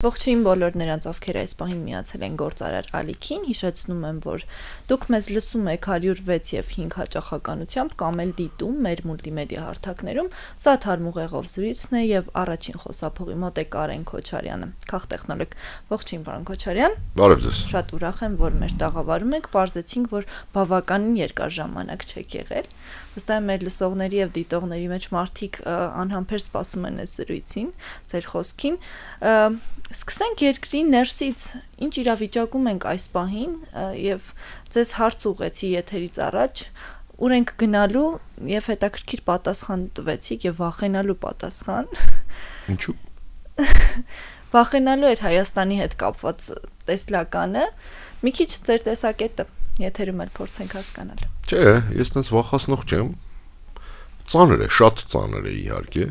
Ողջույն բոլոր նրանց, ովքեր այս պահին միացել են գործարար ալիքին, հիշեցնում եմ, որ դուք մեզ լսում եք 106 և 5 հաճախականությամբ կամ էլ դիտում մեր մուլտիմեդիա հարթակներում, սա Թարմուղեղով զրույցն է և առաջին խոսափողի մոտ է Կարեն Քոչարյանը, քաղտեխնոլոգ։ Ողջույն, պարոն Քոչարյան։ Բարև ձեզ։ Շատ ուրախ եմ, որ մեր տաղավարում եք, պարզեցինք, որ բավականին երկար ժամանակ չեք եղել։ Վստահ եմ մեր լսողների և դիտողների մեջ մարդիկ անհամբեր սպասում են այս զրույցին, ձեր խոսքին։ Սկսենք երկրի ներսից, ինչ իրավիճակում ենք այս պահին և ձեզ հարց ուղղեցի եթերից առաջ, ուր ենք գնալու և հետաքրքիր պատասխան տվեցիք և վախենալու պատասխան։ Ինչու՞։ Վախենալու էր Հայաստանի հետ կապված տեսլականը, մի քիչ ձեր տեսակետը եթերում էլ փորձենք հասկանալ։ Չէ, ես տենց վախացնող չեմ։ Ծանր է, շատ ծանր է իհարկե։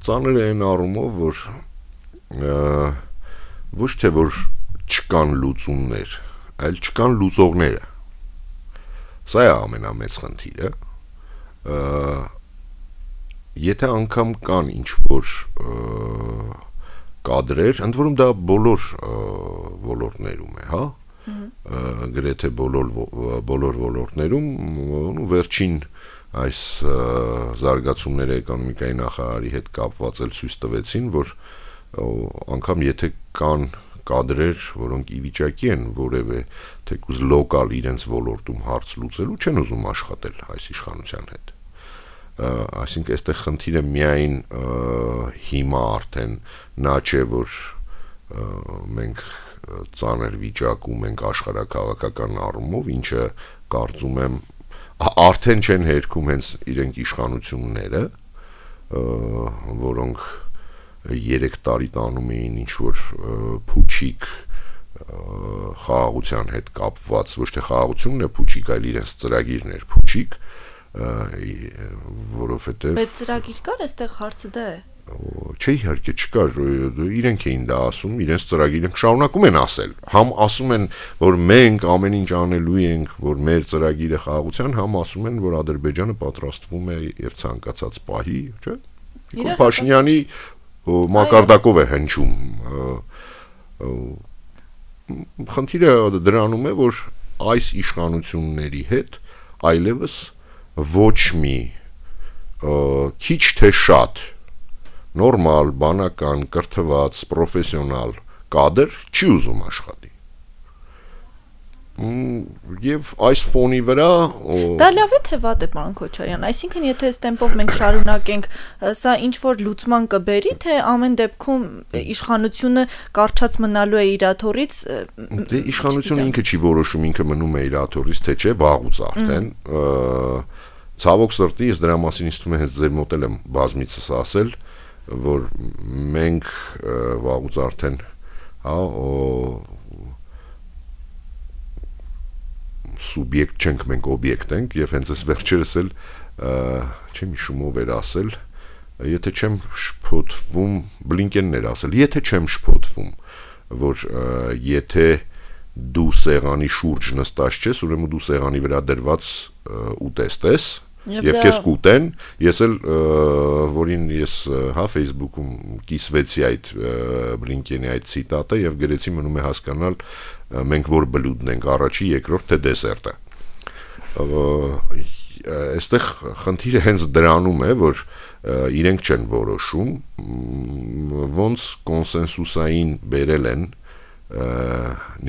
Ծանր է այն առումով, որ ոչ թե որ չկան լուծումներ, այլ չկան լուծողները։ Սա է ամենամեծ խնդիրը։ Եթե անգամ կան ինչ-որ կադրեր, ընդ որում դա բոլոր ոլորտներում է, հա։ Գրեթե բոլոր ոլորտներում վերջին այս զարգացումները էկոնոմիկայի նախարարի հետ կապված էլ ցույց տվեցին, որ անգամ եթե կան կադրեր, որոնք ի վիճակի են որևէ թեկուզ լոկալ իրենց ոլորտում հարց լուծելու, չեն ուզում աշխատել այս իշխանության հետ։ Այսինքն այստեղ խնդիրը միայն հիմա արդեն նա չէ, որ մենք ծանր վիճակում ենք աշխարհաքաղաքական առումով, ինչը կարծում եմ արդեն չեն հերքում հենց իրենք իշխանությունները, որոնք 3 տարի տանում էին ինչ-որ փուչիկ խաղաղության հետ կապված, ոչ թե խաղաղությունն է փուչիկ, այլ իրենց ծրագիրն էր փուչիկ, որովհետև Բայց ծրագիր կար, այստեղ հարցը դա է։ Չէ, իհարկե չկար, իրենք էին դա ասում, իրենց ծրագիրը շարունակում են ասել, համ ասում են, որ մենք ամեն ինչ անելու ենք, որ մեր ծրագիրը խաղաղության, համ ասում են, որ Ադրբեջանը պատրաստվում է եւ ցանկացած պահի, չէ՞։ Նիկոլ Փաշինյանի մակարդակով է հնչում։ Խնդիրը դրանում է, որ այս իշխանությունների հետ այլևս ոչ մի քիչ թե շատ նորմալ, բանական, կրթված, պրոֆեսիոնալ կադր չի ուզում աշխատի։ Եվ այս ֆոնի վրա Դա լավ է թե վատ է, պարոն Քոչարյան, այսինքն եթե այս տեմպով մենք շարունակենք, սա ինչ-որ լուծման կբերի, թե ամեն դեպքում իշխանությունը կարճած մնալու է իր աթոռից։ Դե իշխանությունը ինքը չի որոշում, ինքը մնում է իր աթոռից, թե չէ, վաղուց արդեն։ Ցավոք սրտի, ես դրա մասին ինձ թվում է հենց ձեր մոտ եմ բազմիցս ասել, որ մենք վաղուց արդեն սուբյեկտ չենք, մենք օբյեկտ ենք, եւ հենց այս վերջերս էլ չեմ հիշում ով էր ասել, եթե չեմ շփոթվում, Բլինկենն էր ասել, եթե չեմ շփոթվում, որ եթե դու սեղանի շուրջ նստած չես, ուրեմն դու սեղանի վրա դրված ուտեստ ես, եւ քեզ կուտեն, ես էլ որին ես Facebook-ում կիսվեցի այդ Բլինկենի այդ ցիտատը եւ գրեցի մնում է հասկանալ մենք որ բլուդն ենք, առաջի, երկրորդ թե դեսերտը։ Այստեղ խնդիրը հենց դրանում է, որ իրենք չեն որոշում, ոնց կոնսենսուսային բերել են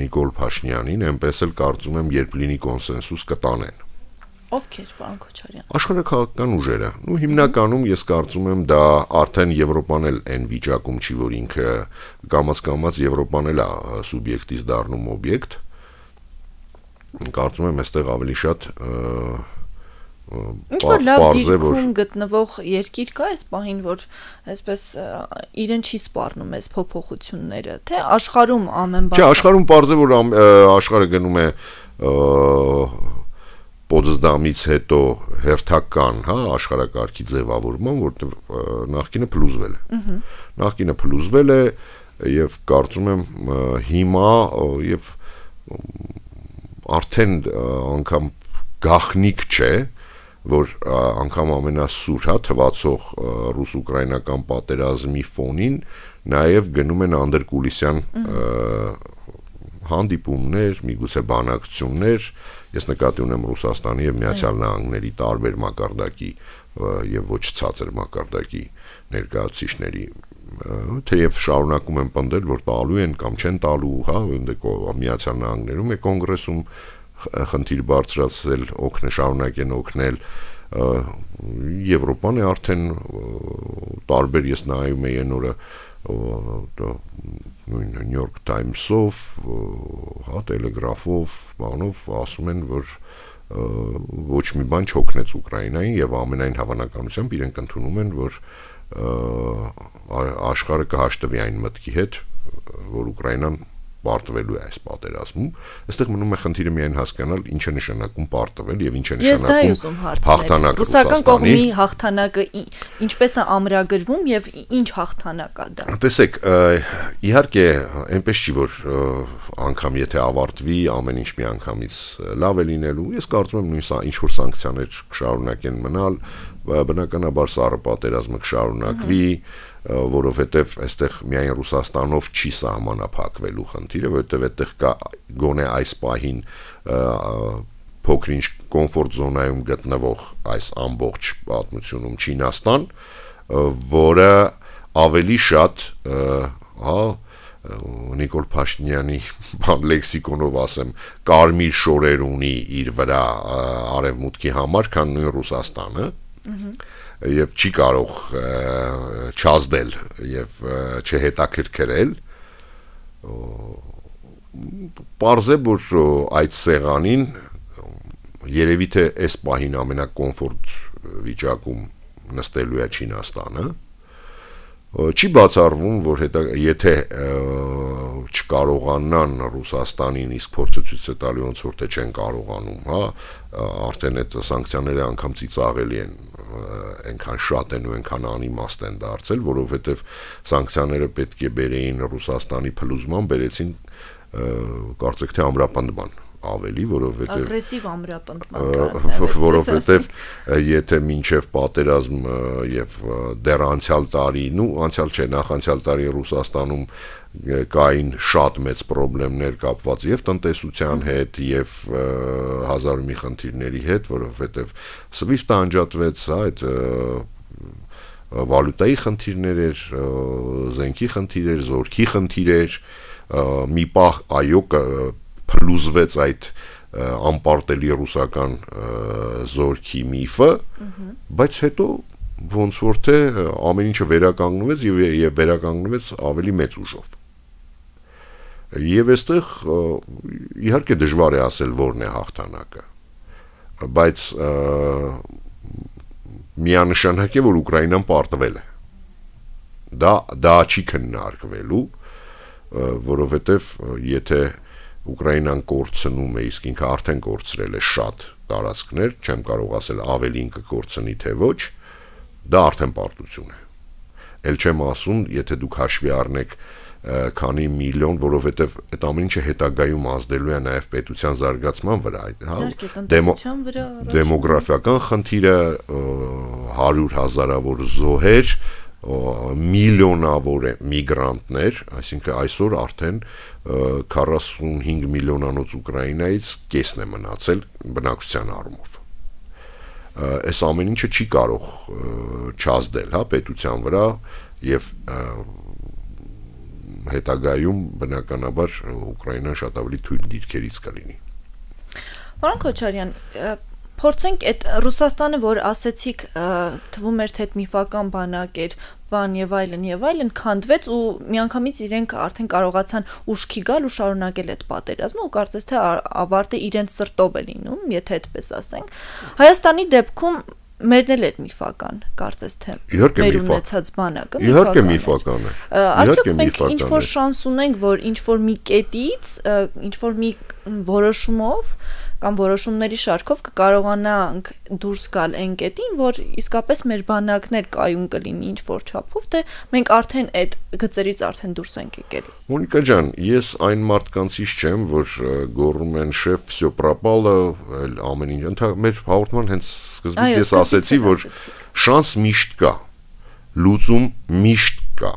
Նիկոլ Փաշինյանին, այնպես էլ կարծում եմ, երբ լինի կոնսենսուս կտանեն։ Ովքեր, պարոն Քոչարյան։ Աշխարհաքաղաքական ուժերը։ Ու հիմնականում ես կարծում եմ դա արդեն Եվրոպան էլ այն վիճակում չի, որ ինքը կամաց Եվրոպան էլ է սուբյեկտից դառնում օբյեկտ։ Կարծում եմ այստեղ ավելի շատ ինչ-որ լավ դիրքում գտնվող երկիր կա այս պահին, որ այսպես իրեն չի սպառնում այս փոփոխությունները, թե աշխարհում ամեն բան։ Չէ, աշխարհում պարզ է, որ աշխարհը գնում է Պոտսդամից հետո հերթական, հա, աշխարհակարգի ձևավորման, որտեղ նախկինը փլուզվել է։ Նախկինը փլուզվել է եւ կարծում եմ հիմա եւ արդեն անգամ գախնիկ չէ, որ անգամ ամենասուր, հա, թվացող ռուս-ուկրաինական պատերազմի ֆոնին նաև գնում են անդրկուլիսյան հանդիպումներ, միգուցե բանակցություններ, ես նկատի ունեմ Ռուսաստանի եւ Միացյալ Նահանգների տարբեր մակարդակի եւ ոչ ցածր մակարդակի ներկայացուցիչների, թեև շարունակում են պնդել, որ տալու են կամ չեն տալու, հա, Միացյալ Նահանգներում է կոնգրեսում խնդիր բարձրացել, շարունակեն օգնել, Եվրոպան է արդեն տարբեր, ես նայում եմ այն օրը New York Times-ով, հա, Telegraph-ով, բանով ասում են, որ ոչ մի բան չօգնեց Ուկրաինային եւ ամենայն հավանականությամբ իրենք ընդունում են, որ աշխարհը կհաշտվի այն մտքի հետ, որ Ուկրաինան պարտվելու է այս պատերազմում, այստեղ մնում է խնդիրը միայն հասկանալ ինչ է նշանակում պարտվել եւ ինչ է նշանակում հաղթանակը ռուսական կողմի հաղթանակը ինչպես է ամրագրվում եւ ինչ հաղթանակ է դա։ Տեսեք, իհարկե այնպես չի որ անգամ եթե ավարտվի ամեն ինչ մի անգամից լավ է լինելու, ես կարծում եմ նույն ինչ որ սանկցիաներ կշարունակեն մնալ, բնականաբար սառը պատերազմը կշարունակվի, որովհետև այստեղ միայն Ռուսաստանով չի սահմանափակվելու խնդիրը, որովհետև այդտեղ կա գոնե այս պահին փոքր-ինչ կոմֆորտ զոնայում գտնվող այս ամբողջ պատմությունում Չինաստան, որը ավելի շատ, հա, Նիկոլ Փաշինյանի լեքսիկոնով ասեմ, կարմիր շորեր ունի իր վրա արևմուտքի համար, քան նույն Ռուսաստանը, եւ չի կարող չազդել եւ չհետաքրքրել, պարզ է, որ այդ սեղանին երևի թե այս պահին ամենակոմֆորտ վիճակում նստելու է Չինաստանը, չի բացառվում, որ եթե չկարողանան Ռուսաստանին իսկ փորձը ցույց է տալի ոնց որ թե չեն կարողանում, հա, արդեն այդ սանկցիաները անգամ ծիծաղելի են, այնքան շատ են ու այնքան անիմաստ են դարձել, որովհետև սանկցիաները պետք է բերեին Ռուսաստանի փլուզման, բերեցին կարծեք թե ամրապնդման ավելի, որովհետև ագրեսիվ ամրապնդման, որովհետև եթե մինչև պատերազմ եւ դեռ անցյալ տարի, անցյալ չէ, նախանցյալ տարի Ռուսաստանում կային շատ մեծ խնդիրներ կապված եւ տնտեսության հետ եւ հազար մի խնդիրների հետ, որովհետեւ SWIFT-ը անջատվեց, այդ վալյուտայի խնդիրներ էր, զենքի խնդիրներ, զորքի խնդիրներ, մի պահ այո փլուզվեց այդ անպարտելի ռուսական զորքի միֆը, բայց հետո ոնց որ թե ամեն ինչը վերականգնվեց եւ վերականգնվեց ավելի մեծ ուժով։ Եվ այստեղ իհարկե դժվար է ասել որն է հաղթանակը, բայց միանշանակ է որ Ուկրաինան պարտվել է։ Դա չի քննարկվելու, որովհետեւ եթե Ուկրաինան կորցնում է, իսկ ինքը արդեն կորցրել է շատ տարածքներ, չեմ կարող ասել ավելին կկորցնի թե ոչ, դա արդեն պարտություն է։ Էլ չեմ ասում, եթե դուք հաշվի առնեք քանի միլիոն, որովհետև այդ ամեն ինչը հետագայում ազդելու է նաև պետության զարգացման վրա, հա, դեմոգրաֆիական խնդիրը, 100,000-ավոր զոհեր, միլիոնավոր միգրանտներ, այսինքն այսօր արդեն 45 միլիոնանոց Ուկրաինայից կեսն է մնացել բնակչության առումով։ Այս ամեն ինչը չի կարող չազդել, հա, պետության վրա եւ հետագայում բնականաբար Ուկրաինան շատ ավելի թույլ դիրքերից կլինի։ Պարոն Քոչարյան, փորձենք այդ Ռուսաստանը, որ ասեցիք, թվում էր թե միֆական բանակ էր, բան եւ այլն, քանդվեց ու միանգամից իրենք արդեն կարողացան ուշքի գալ ու շարունակել այդ պատերազմը ու կարծես թե ավարտը իրենց սրտով է լինում, եթե այդպես ասենք։ Հայաստանի դեպքում մերն էլ էր միֆական, կարծես թե մեր ունեցած բանակը միֆական է։ Արդյոք մենք ինչ-որ շանս ունենք, որ ինչ-որ մի կետից, ինչ-որ մի որոշումով կամ որոշումների շարքով կկարողանանք դուրս գալ այն կետին, որ իսկապես մեր բանակներ կայուն կլինի ինչ որ չափով, թե մենք արդեն այդ գծերից արդեն դուրս ենք եկել։ Մոնիկա ջան, ես այն մարդկանցից չեմ, որ գոռում են շեֆ, всё пропало, ամեն ինչ։ Մեր հաղորդման հենց սկզբից ես ասացի, որ շանս միշտ կա, լուծում միշտ կա։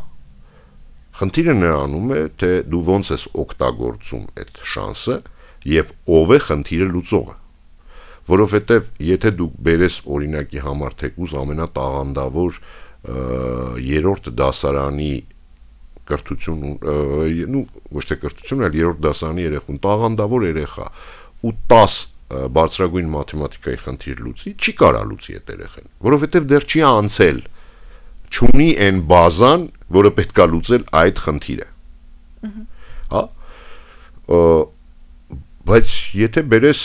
Խնդիրը նրանում է, թե դու ոնց ես օգտագործում այդ շանսը եւ ով է խնդիրը լուծողը։ Որովհետեւ եթե դու բերես օրինակի համար թեկուզ ամենատաղանդավոր երրորդ դասարանի կրթություն, ոչ թե կրթություն, այլ երրորդ դասարանի երեխուն, տաղանդավոր երեխա ու 10 բարձրագույն մաթեմատիկայի խնդիր լուծի, չի կարա լուծի այդ երեխան, որովհետեւ դեռ չի անցել, չունի այն բազան, որը պետք է լուծել այդ խնդիրը։ Հա? Բայց եթե բերես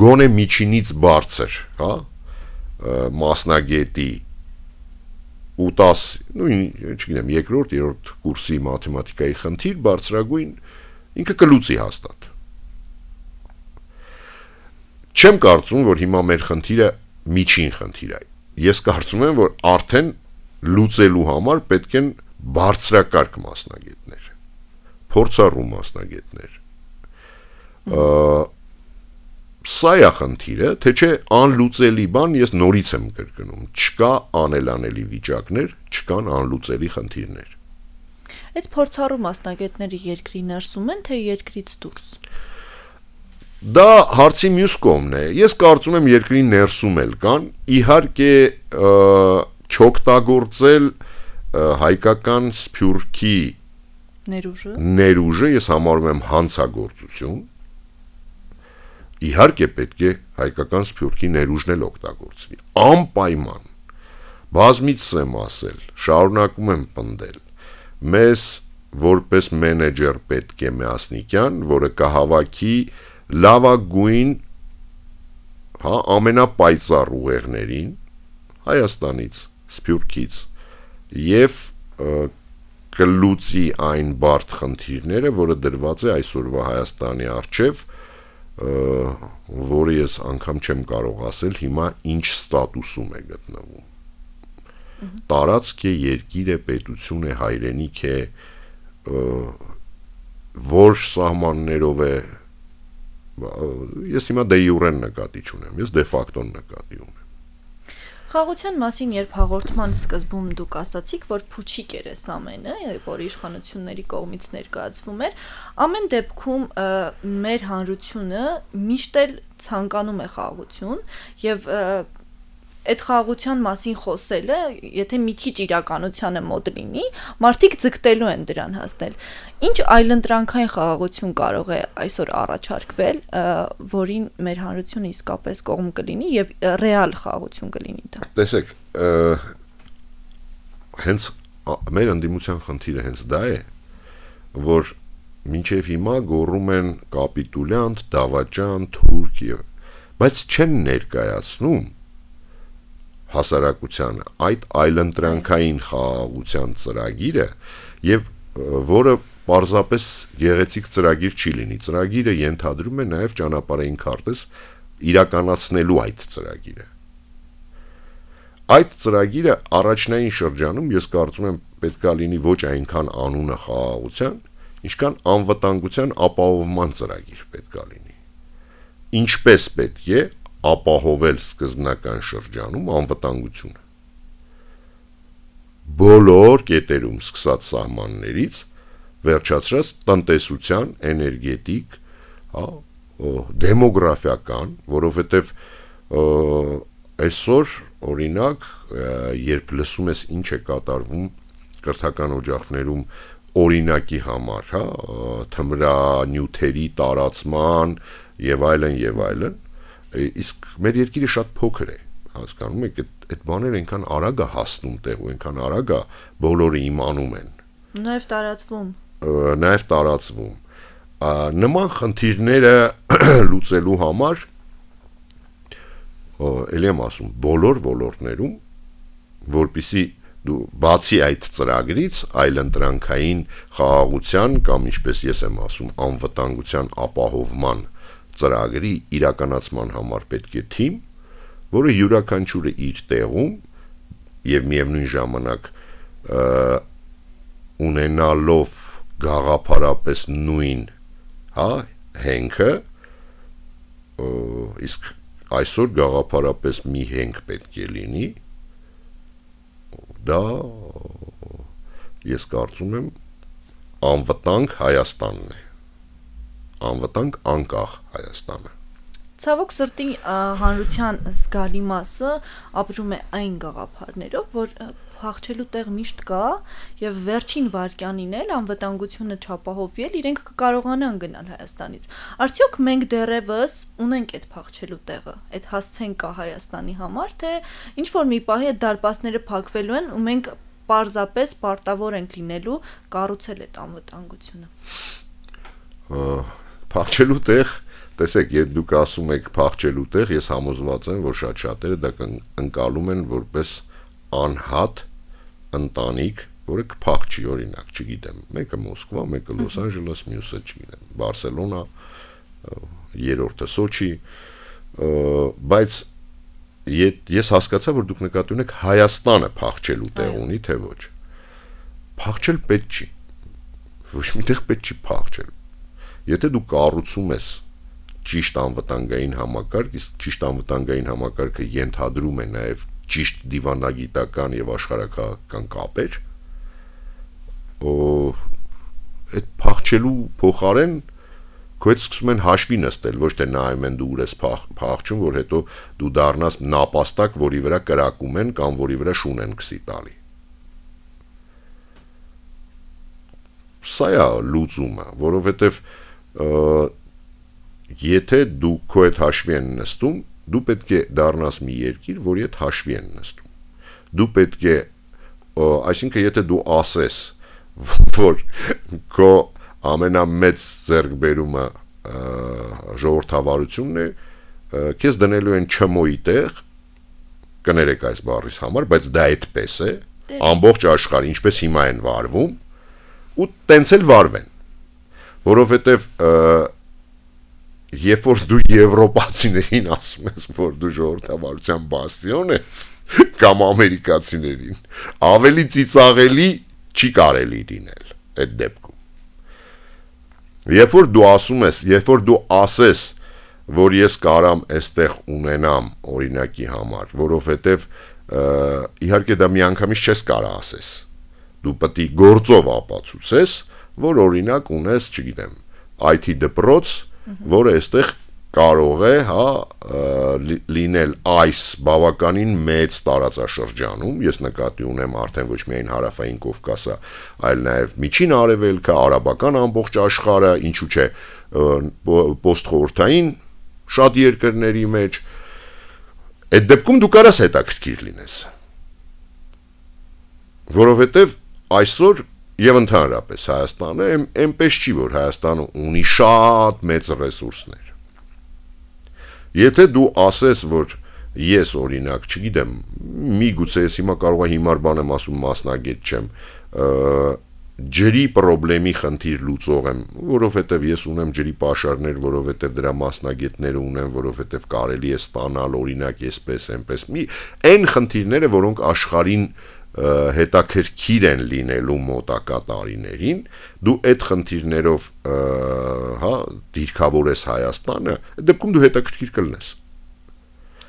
գոնե միջինից բարձր, հա, մասնագետի ու 10, չգիտեմ, երկրորդ, երրորդ կուրսի մաթեմատիկայի խնդիր բարձրագույն ինքը կլուծի հաստատ։ Չեմ կարծում, որ հիմա մեր խնդիրը միջին խնդիր է։ Ես կարծում եմ, որ արդեն լուծելու համար պետք են բարձրակարգ մասնագետներ, փորձառու մասնագետներ։ Սա է խնդիրը, թե չէ անլուծելի բան ես նորից եմ կրկնում, չկա անելանելի վիճակներ, չկան անլուծելի խնդիրներ։ Այդ փորձառու մասնագետները երկրի ներսում են, թե երկրից դուրս։ Դա հարցի մյուս կողմն է։ Ես կարծում եմ երկրի ներսում էլ կան, իհարկե չօգտագործել հայկական սփյուռքի ներուժը ես համարում եմ հանցագործություն։ Իհարկե պետք է հայկական սփյուռքի ներուժն էլ օգտագործվի։ Անպայման։ Բազմիցս եմ ասել, շարունակում եմ պնդել։ Մեզ որպես մենեջեր պետք է Միասնիկյան, որը կհավաքի լավագույն, հա, ամենապայծառ ուղեղներին Հայաստանից, Սփյուռքից եւ կլուծի այն բարդ խնդիրները, որը դրված է այսօրվա Հայաստանի առջև, որը ես անգամ չեմ կարող ասել հիմա ինչ ստատուսում է գտնվում։ Տարածք է, երկիր է, պետություն է, հայրենիք է, որ սահմաններով է, ես հիմա դե յուրեն նկատի չունեմ, ես դե ֆակտոն նկատի ունեմ։ Խաղաղության մասին երբ հաղորդման սկզբում դուք ասացիք, որ փուչիկ էր այս ամենը, որ իշխանությունների կողմից ներկայացվում էր, ամեն դեպքում մեր հանրությունը միշտ էլ ցանկանում է խաղաղություն եւ այդ խաղաղության մասին խոսելը, եթե մի քիչ իրականությանը մոտ լինի, մարդիկ ձգտելու են դրան հասնել։ Ինչ այլընտրանքային խաղաղություն կարող է այսօր առաջարկվել, որին մեր հանրությունը իսկապես կողմ կլինի եւ ռեալ խաղաղություն կլինի դա։ Տեսեք, հենց մեր ընդդիմության խնդիրը հենց դա է, որ մինչև հիմա գոռում են կապիտուլյանտ, դավաճան, թուրք եւ, բայց չեն ներկայացնում հասարակությանը այդ այլընտրանքային խաղաղության ծրագիրը եւ որը պարզապես գեղեցիկ ծրագիր չի լինի, ծրագիրը ենթադրում է նաեւ ճանապարհային քարտեզ իրականացնելու այդ ծրագիրը։ Այդ ծրագիրը առաջնային շրջանում ես կարծում եմ պետքա լինի ոչ այնքան անունը խաղաղության, ինչքան անվտանգության ապահովման ծրագիր պետքա լինի։ Ինչպես պետք է ապահովել սկզբնական շրջանում անվտանգությունը։ Բոլոր կետերում սկսած սահմաններից վերջացրած տնտեսության, էներգետիկ, հա, դեմոգրաֆիական, որովհետև այսօր օրինակ, երբ լսում ես ինչ է կատարվում կրթական օջախներում օրինակի համար, հա, թմրանյութերի տարածման եւ այլն, իսկ մեր երկիրը շատ փոքր է, հասկանում եք, այդ բաները այնքան արագ է հասնում տեղ ու այնքան արագ է բոլորը իմանում են։ Նաև տարածվում։ Նման խնդիրները լուծելու համար էլի եմ ասում, բոլոր ոլորտներում, որպեսզի դու բացի այդ ծրագրից այլընտրանքային խաղաղության կամ ինչպես ես եմ ասում անվտանգության ապահովման ծրագրի իրականացման համար պետք է թիմ, որը յուրաքանչյուրը իր տեղում եւ միևնույն ժամանակ ունենալով գաղափարապես նույն, հենքը, իսկ այսօր գաղափարապես մի հենք պետք է լինի, դա ես կարծում եմ անվտանգ Հայաստանն է, անվտանգ անկախ Հայաստանը։ Ցավոք սրտի հանրության զգալի մասը ապրում է այն գաղափարներով, որ փախչելու տեղ միշտ կա եւ վերջին վարքյանին էլ անվտանգությունը չապահովի, իրենք կկարողանան գնալ Հայաստանից։ Արդյոք մենք դեռևս ունենք այդ փախչելու տեղը, այդ հասցեն կա Հայաստանի համար, թե ինչ որ մի պահի այդ դարպասները փակվելու են ու մենք պարզապես պարտավոր ենք լինելու կառուցել այդ անվտանգությունը։ Փախչելու տեղ, տեսեք, երբ դուք ասում եք փախչելու տեղ, ես համոզված եմ, որ շատ շատերը դա ընկալում են որպես անհատ ընտանիք, որը կփախչի, օրինակ, չգիտեմ, մեկը Մոսկվա, մեկը Լոս Անջելես, մյուսը չգիտեմ, Բարսելոնա, երրորդը Սոչի, բայց ես հասկացա, որ դուք նկատի ունեք Հայաստանը փախչելու տեղ ունի, թե ոչ։ Փախչել պետք չի։ Ոչ միտեղ պետք չի փախչել։ Եթե դու կառուցում ես ճիշտ անվտանգային համակարգ, իսկ ճիշտ անվտանգային համակարգը ենթադրում է նաև ճիշտ դիվանագիտական եւ աշխարհակաղակական կապեր, այդ փախչելու փոխարեն քո հետ սկսում են հաշվի նստել, ոչ թե նայում են դու ուր ես փախչում, որ հետո դու դառնաս նապաստակ, որի վրա կրակում են կամ որի վրա շուն են քսի տալի։ Սա է լուծումը, որովհետեւ եթե դու քո հետ հաշվի են նստում, դու պետք է դառնաս մի երկիր, որի հետ հաշվի են նստում։ Դու պետք է, այսինքն եթե դու ասես, որ քո ամենամեծ ձեռքբերումը ժողովրդավարությունն է, քեզ դնելու են չմոյի տեղ, կներեք այս բառից համար, բայց դա այդպես է, ամբողջ աշխարհը ինչպես հիմա են վարվում, ու տենց էլ վարվեն, որովհետև երբ որ դու եվրոպացիներին ասում ես, որ դու ժողովրդավարության բաստիոն ես, կամ ամերիկացիներին, ավելի ծիծաղելի չի կարելի լինել այդ դեպքում։ Երբ որ դու ասում ես, երբ որ դու ասես, որ ես կարամ այստեղ ունենամ օրինակի համար, որովհետև իհարկե դա միանգամից չես կարա ասես, դու պետք է գործով ապացուցես, որ օրինակ ունես, չգիտեմ, IT դպրոց, որը այստեղ կարող է, լինել այս բավականին մեծ տարածաշրջանում, ես նկատի ունեմ արդեն ոչ միայն հարավային Կովկասը, այլ նաև Միջին Արևելքը, արաբական ամբողջ աշխարհը, ինչու՞ չէ, պոստխորհրդային շատ երկրների մեջ, այդ դեպքում դու կարաս հետաքրքիր լինես, որովհետև այսօր եւ ընդհանրապես Հայաստանը այնպես չի, որ Հայաստանը ունի շատ մեծ ռեսուրսներ։ Եթե դու ասես, որ ես օրինակ, չգիտեմ, միգուցե ես հիմա կարող եմ հիմար բան եմ ասում, մասնագետ չեմ, ջրի խնդրի խնդիր լուծող եմ, որովհետև ես ունեմ ջրի պաշարներ, որովհետև դրա մասնագետները ունեմ, որովհետև կարելի է ստանալ օրինակ այսպես, այնպես, այն խնդիրները, որոնք աշխարհին հետաքրքիր են լինելու մոտակա տարիներին, դու այդ խնդիրներով դիրքավորես Հայաստանը, այդ դեպքում դու հետաքրքիր կլինես։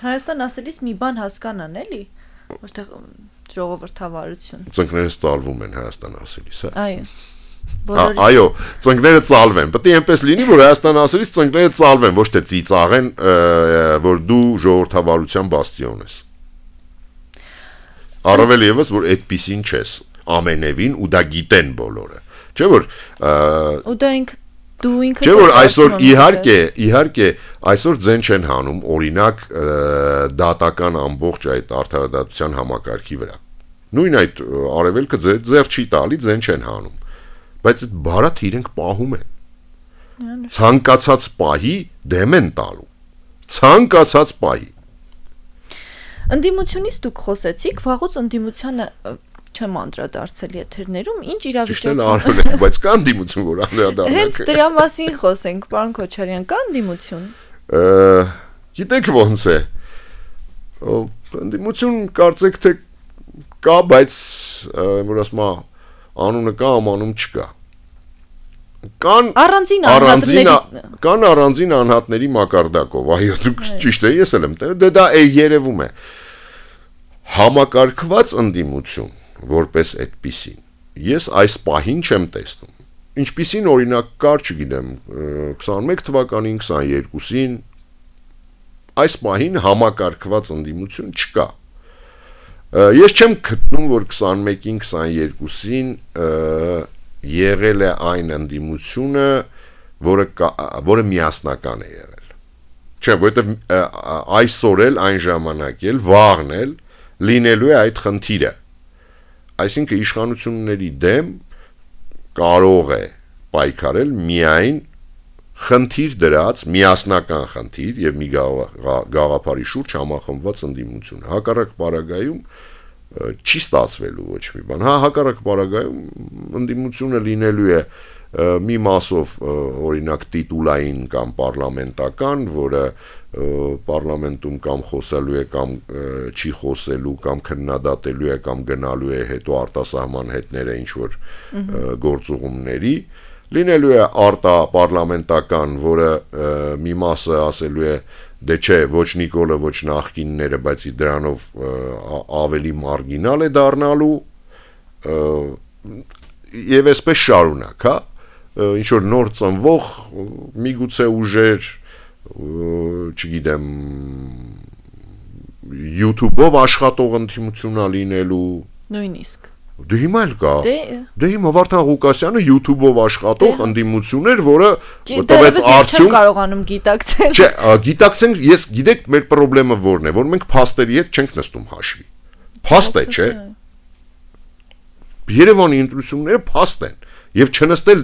Հայաստան ասելիս մի բան հասկանան, էլի, ոչ թե ժողովրդավարություն։ Ծնկներս ծալվում են Հայաստան ասելիս, հա։ Այո։ Այո, ծնկները ծալվեն։ Պետք է այնպես լինի, որ Հայաստան ասելիս ծնկները ծալվեն, ոչ թե ծիծաղեն, որ դու ժողովրդավարության բաստիոն ես։ Առավել եւս, որ այդպեսին չես, ամենևին ու դա գիտեն բոլորը։ Չէ՞ որ ու դա դու ինքդ չէ՞ որ այսօր իհարկե այսօր ձեն չեն հանում, օրինակ դատական ամբողջ այդ արդարադատության համակարգի վրա։ Նույն այդ արևելքը ձեռ չի տալի, ձեն չեն հանում։ Բայց այդ բարաթ իրենք պահում են։ Ցանկացած պահի դեմ են տալու։ Ցանկացած պահի։ Ընդդիմությունից դուք խոսեցիք, վաղուց ընդդիմությանը չեմ անդրադարձել եթերներում, ինչ իրավիճակում։ Ճիշտ է, արվել է, բայց կա ընդդիմություն, որ անդրադառնանք։ Հենց դրա մասին խոսենք, պարոն Քոչարյան, կա ընդդիմություն։ Գիտեք ոնց է։ Ընդդիմություն կարծեք թե կա, բայց որ ասում անունը կա, ամանում չկա։ Կան առանձին անհատների մակարդակով, այո, դուք ճիշտ է, ես էլ եմ, դա երևում է։ Համակարգված ընդդիմություն, որպես այդպիսին, ես այս պահին չեմ տեսնում։ Ինչպիսին օրինակ կար, չգիտեմ, 21 թվականին, 22-ին, այս պահին համակարգված ընդդիմություն չկա։ Ես չեմ գտնում, որ 21-ին, 22-ին եղել է այն ընդդիմությունը, որը միասնական է եղել։ Չէ, որովհետև այսօր էլ, այն ժամանակ էլ, վաղն էլ լինելու է այդ խնդիրը։ Այսինքն իշխանությունների դեմ կարող է պայքարել միայն խնդիր դրած, միասնական խնդիր եւ մի գաղափարի շուրջ համախմբված ընդդիմություն։ Հակառակ պարագայում չի ստացվելու ոչ մի բան։ Հակառակ պարագայում ընդդիմությունը լինելու է մի մասով օրինակ տիտուլային կամ պարլամենտական, որը պարլամենտում կամ խոսելու է կամ չի խոսելու կամ քննադատելու է կամ գնալու է հետո արտասահման հետները ինչ որ գործուղումների, լինելու է արտապարլամենտական, որը մի մասը ասելու է դե չէ, ոչ Նիկոլը, ոչ նախկինները, բայց դրանով ավելի մարգինալ է դառնալու եւ այսպես շարունակ, հա, ինչ որ նոր ծնվող միգուցե ուժեր, չգիտեմ, YouTube-ով աշխատող ընդդիմությունա լինելու, նույնիսկ Դե հիմա էլ կա։ Դե հիմա Վարդան Ղուկասյանը YouTube-ով աշխատող ընդդիմություն էր, որը տվեց արդյունք։ Չեմ կարողանում գիտակցել։ Չէ, գիտակցենք, ես գիտեք մեր խնդրումը որն է, որ մենք փաստերի հետ չենք նստում հաշվի։ Փաստ է, չէ։ Երևանի ընտրությունները փաստ են, եւ չնստել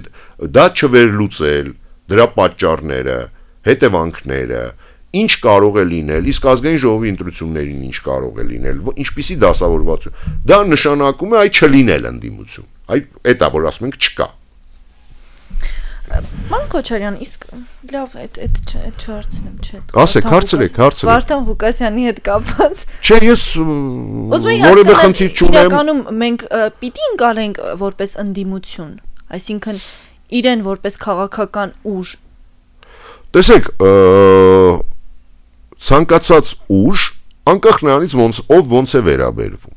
դա չվերլուծել, դրա պատճառները, հետևանքները, ինչ կարող է լինել, իսկ ազգային ժողովի ընտրություններին ինչ կարող է լինել, ինչպիսի դասավորվածություն, դա նշանակում է այ չլինել ընդդիմություն, այդ է, որ ասում ենք չկա։ Պարոն Քոչարյան, իսկ լավ, այդ չհարցնեմ, չէ։ Ասեք, հարցրեք։ Վարդան Ղուկասյանի հետ կապված։ Չէ, ես որևէ խնդիր չունեմ։ Իրականում մենք պիտի ընկալենք որպես ընդդիմություն, այսինքն իրեն որպես քաղաքական ուժ։ Տեսեք, ցանկացած ուժ անկախ նրանից ոնց է վերաբերվում։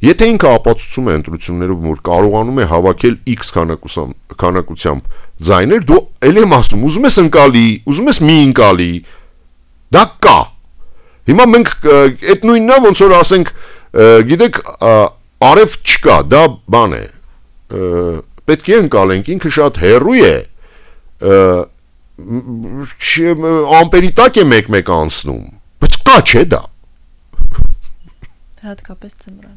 Եթե ինքը ապացուցում է ընտրություններով, որ կարողանում է հավաքել X քանակությամբ ձայներ, դու ել եմ ասում, ուզում ես ընկալի, ուզում ես մի ընկալի, դա կա։ Հիմա մենք այդ նույնն է, ոնց որ ասենք, գիտեք, արև չկա, դա բան է։ Պետք է ընկալենք, ինքը շատ հեռու է, ամպերի տակ է մեկ անցնում, բայց կա չէ դա։ Հատկապես ձմռան։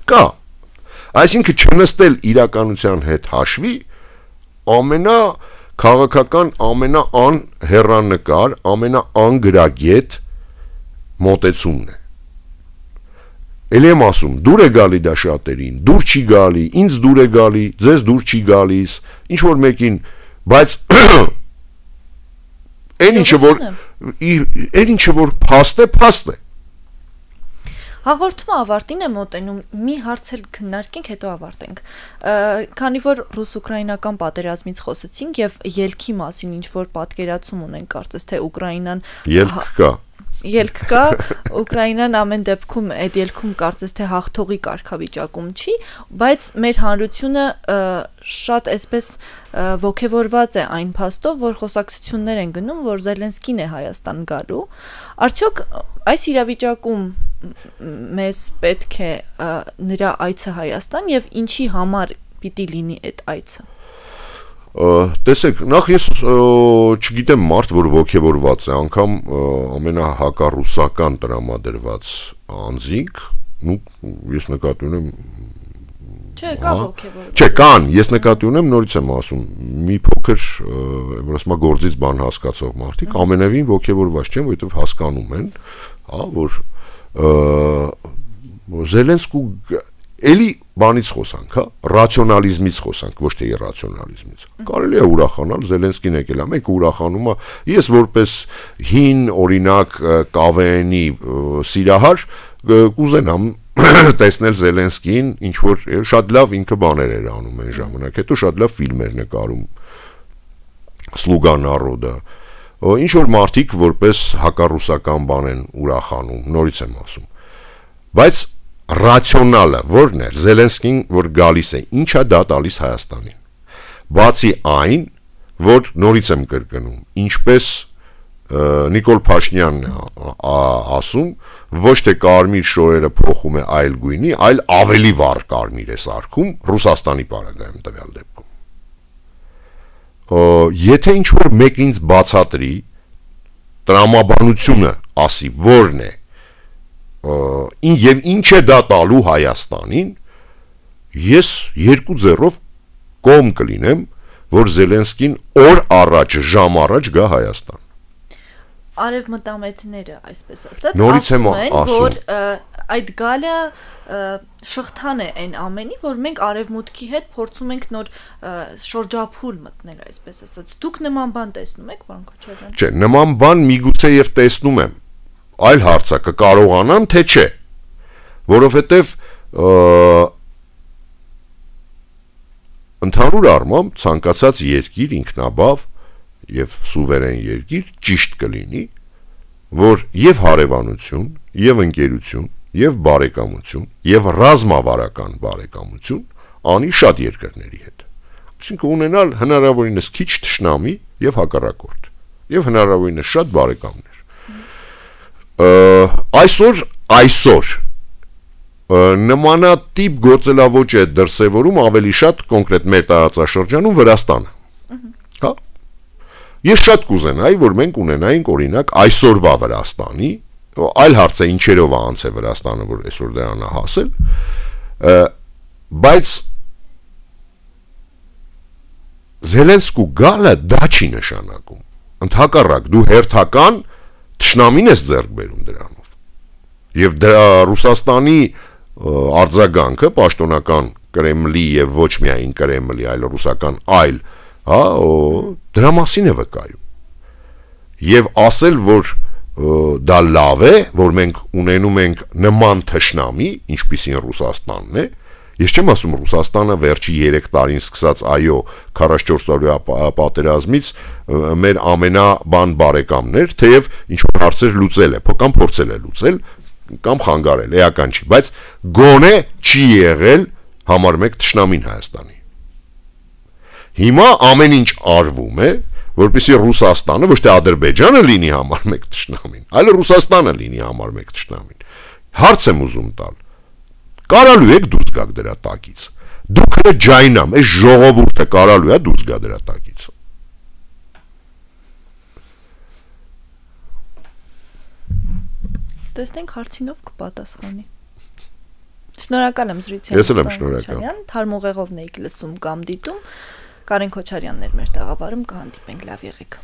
Կա։ Այսինքն չնստել իրականության հետ հաշվի քաղաքական ամենաանհեռանկար, ամենաանգրագետ մոտեցումն է։ Էլ եմ ասում, դուր է գալի դա շատերին, դուր չի գալի, ինձ դուր է գալի, ձեզ դուր չի գալիս, ինչ որ մեկին, բայց այն ինչը որ փաստ է։ Հաղորդումը ավարտին է մոտենում, մի հարց էլ քննարկենք, հետո ավարտենք։ Քանի որ ռուս-ուկրաինական պատերազմից խոսեցինք եւ ելքի մասին ինչ որ պատկերացում ունենք, կարծես թե Ուկրաինան ելք կա, Ուկրաինան ամեն դեպքում այդ ելքում կարծես թե հաղթողի կարգավիճակում չի, բայց մեր հանրությունը շատ այսպես ոգևորված է այն փաստով, որ խոսակցություններ են գնում, որ Զելենսկին է Հայաստան գալու։ Արդյոք այս իրավիճակում մեզ պետք է նրա այցը Հայաստան եւ ինչի համար պիտի լինի այդ այցը։ Տեսեք, նախ ես չգիտեմ մարդ, որ ոգևորված է, անգամ ամենահակառուսական տրամադրված անձինք, ես նկատի ունեմ Չէ, կա ոգևորված։ Չէ, կան, ես նկատի ունեմ, նորից եմ ասում, մի փոքր, որ ասում գործից բան հասկացող մարդիկ ամենևին ոգևորված չեն, որովհետև հասկանում են, որ Զելենսկու էլի բանից խոսանք, հա, ռացիոնալիզմից խոսանք, ոչ թե իրացիոնալիզմից։ Կարելի է ուրախանալ, Զելենսկին եկել է, մեկը ուրախանում է, ես որպես հին օրինակ կավենի սիրահար կուզենամ տեսնել Զելենսկին, ինչ որ շատ լավ ինքը բաներ էր անում այն ժամանակ, հետո շատ լավ ֆիլմեր նկարում, Слуга народа, ինչ որ մարդիկ որպես հակառուսական բան են ուրախանում, նորից եմ ասում, բայց ռացիոնալը որն էր, Զելենսկին որ գալիս է, ինչա դա տալիս Հայաստանին, բացի այն, որ նորից եմ կրկնում, ինչպես Նիկոլ Փաշինյանն է ասում, ոչ թե կարմիր շորերը փոխում է այլ գույնի, այլ ավելի վառ կարմիր է սարքում Ռուսաստանի պարագայում տվյալ դեպքում։ Եթե ինչ-որ մեկ ինձ բացատրի, տրամաբանությունը ասի, որն է, եւ ինչ է դա տալու Հայաստանին, ես 2 ձեռով կողմ կլինեմ, որ Զելենսկին օր առաջ, ժամ առաջ գա Հայաստան։ Արևմտամետները, այսպես ասած, ասում են, որ այդ գալը շղթան է այն ամենի, որ մենք արևմուտքի հետ փորձում ենք նոր շրջափուլ մտնել, այսպես ասած։ Դուք նման բան տեսնում եք, պարոն Քոչարյան։ Չէ, նման բան միգուցե եւ տեսնում եմ։ Այլ հարց է, կկարողանամ, թե չէ։ Որովհետեւ ընդհանուր առմամբ ցանկացած երկիր ինքնաբավ եւ սուվերեն երկիր ճիշտ կլինի, որ եւ հարևանություն, եւ ընկերություն, եւ բարեկամություն, եւ ռազմավարական բարեկամություն անի շատ երկրների հետ։ Այսինքն ունենալ հնարավորինս քիչ թշնամի եւ հակառակորդ, եւ հնարավորինս շատ բարեկամներ։ Այսօր նմանատիպ գործելավոճ է դրսևորում ավելի շատ կոնկրետ մեր տարածաշրջանում Վրաստանը։ Հա։ Ես շատ կուզենայի, որ մենք ունենայինք օրինակ այսօրվա Վրաստանի, այլ հարց է ինչերով է անց է Վրաստանը, որ այսօր դրան է հասել, բայց Զելենսկու գալը դա չի նշանակում։ Ընդհակառակ դու հերթական թշնամին ես ձեռք բերում դրանով։ Եւ դրա Ռուսաստանի արձագանքը պաշտոնական Կրեմլի եւ ոչ միայն Կրեմլի, այլ ռուսական այլ, հա, դրա մասին է վկայում։ Եվ ասել, որ դա լավ է, որ մենք ունենում ենք նման թշնամի, ինչպիսին Ռուսաստանն է, ես չեմ ասում Ռուսաստանը վերջի 3 տարին սկսած, այո, 44-օրյա պատերազմից մեր ամենաբան բարեկամներ, թեև ինչ-որ հարցեր լուծել է, կամ փորձել է լուծել, կամ խանգարել, էական չի, բայց գոնե չի եղել համար 1 թշնամին Հայաստանի։ Հիմա ամեն ինչ արվում է, որպեսզի Ռուսաստանը, ոչ թե Ադրբեջանը լինի համար 1 թշնամին, այլ Ռուսաստանը լինի համար 1 թշնամին։ Հարց եմ ուզում տալ։ Կարալու եք դուրս գաք դրա տակից։ Դուք հենց ջայնամ, այս ժողովուրդը կարալու է դուրս գա դրա տակից։ Տեսնենք հարցինով կպատասխանի։ Շնորհակալ եմ զրույցի համար։ Թարմուղեղով նեիք լսում կամ դիտում։ Կարեն Քոչարյանն էր մեր տաղավարում, կհանդիպենք, լավ եղեք։